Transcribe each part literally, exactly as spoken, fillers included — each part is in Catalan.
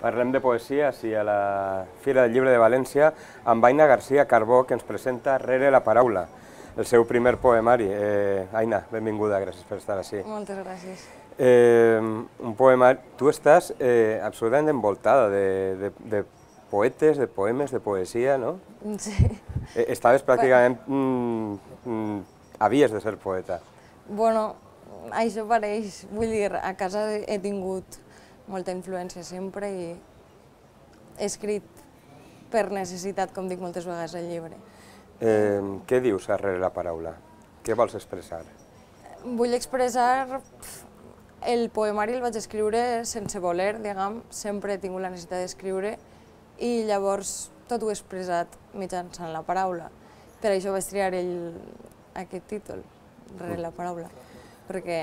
Parlem de poesia, sí, a la Fira del Llibre de València, amb Aina García Carbó, que ens presenta Rere la paraula, el seu primer poemari. Eh, Aina, benvinguda, gràcies per estar així. Moltes gràcies. Eh, un poemari... Tu estàs eh, absolutament envoltada de, de, de poetes, de poemes, de poesia, no? Sí. Eh, estaves pràcticament... Mm, mm, havies de ser poeta. Bueno, això pareix. Vull dir, a casa he tingut molta influència sempre i he escrit per necessitat, com dic moltes vegades al llibre. Eh, què dius darrere la paraula? Què vols expressar? Vull expressar... El poemari el vaig escriure sense voler, diguem, sempre he tingut la necessitat d'escriure i llavors tot ho he expressat mitjançant la paraula. Per això vaig triar el, aquest títol, Rere la paraula, perquè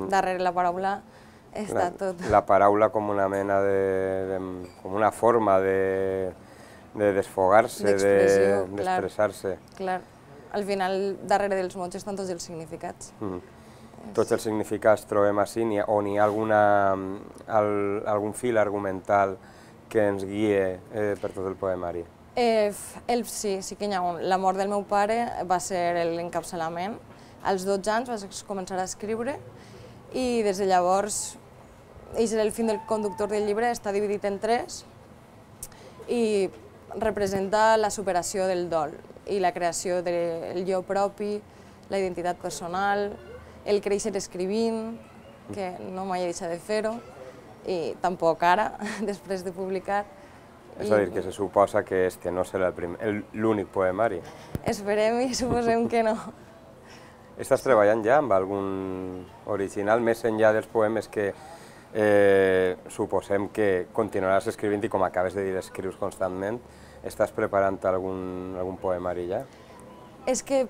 darrere la paraula està tot. La paraula com una mena de... de com una forma de, de desfogar-se, d'expressar-se. Clar, al final, darrere dels mots estan tots els significats. Mm. Tots els significats trobem així, o n'hi ha alguna, al, algun fil argumental que ens guie eh, per tot el poemari? Eh, el, sí, sí que n'hi ha un. La mort del meu pare va ser l'encapçalament. Als dotze anys vaig començar a escriure i des de llavors, és el fil del conductor del llibre, està dividit en tres i representa la superació del dol i la creació del jo propi, la identitat personal, el créixer escrivint, que no mai he deixat de fer-ho, i tampoc ara, després de publicar. És a dir, que se suposa que este no serà l'únic poemari. Esperem i suposem que no. Estàs treballant ja amb algun original, més enllà dels poemes que eh, suposem que continuaràs escrivint i com acabes de dir, escrius constantment, estàs preparant algun, algun poemari ja? És que,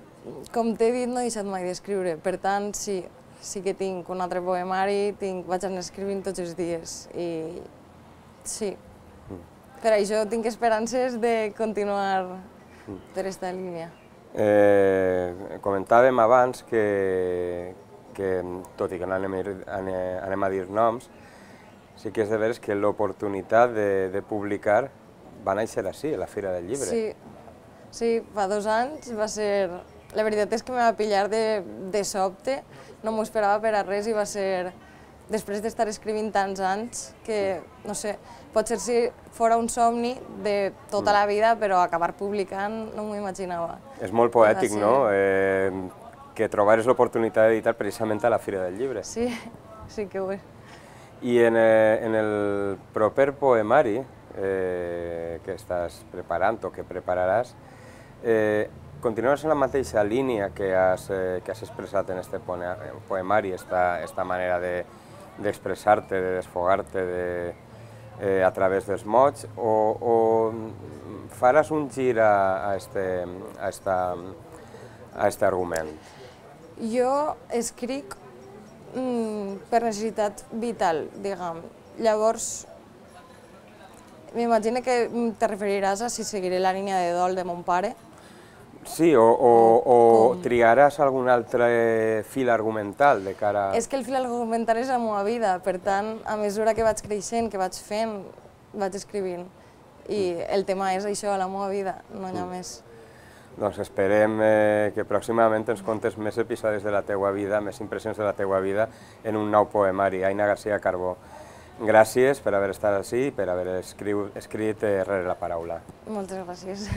com t'he dit, no he deixat mai d'escriure, per tant, sí, sí que tinc un altre poemari, tinc, vaig anar escrivint tots els dies, i sí. Mm. Per això tinc esperances de continuar mm. per aquesta línia. Eh, comentàvem abans que, que, tot i que no anem, anem a dir noms, sí que és de veres que l'oportunitat de, de publicar va néixer així, a la Fira del Llibre. Sí. Sí, fa dos anys va ser... La veritat és que me va pillar de, de sobte, no m'ho esperava per a res i va ser... Després d'estar escrivint tants anys que, no sé, potser si fora un somni de tota la vida, però acabar publicant no m'ho imaginava. És molt poètic, no?, eh, que trobares l'oportunitat d'editar precisament a la Fira del Llibre. Sí, sí que ho és. I en, eh, en el proper poemari eh, que estàs preparant o que prepararàs, Eh, continues en la mateixa línia que has, eh, que has expressat en aquest poemari, esta, esta manera d'expressar-te, de, de desfogar-te de, eh, a través dels mots, o, o faràs un gir a, a, este, a, esta, a este argument? Jo escric mm, per necessitat vital, diguem. Llavors, m'imagino que te referiràs a si seguiré la línia de dol de mon pare. Sí, o, o, o triaràs algun altre fil argumental de cara... És que el fil argumental és la meva vida, per tant, a mesura que vaig creixent, que vaig fent, vaig escrivint. I el tema és això, la meva vida, no hi ha més. Doncs esperem eh, que pròximament ens contes més episodis de la teua vida, més impressions de la teua vida en un nou poemari. Aina García Carbó, gràcies per haver estat així i per haver escrit, escrit eh, Rere la paraula. Moltes gràcies.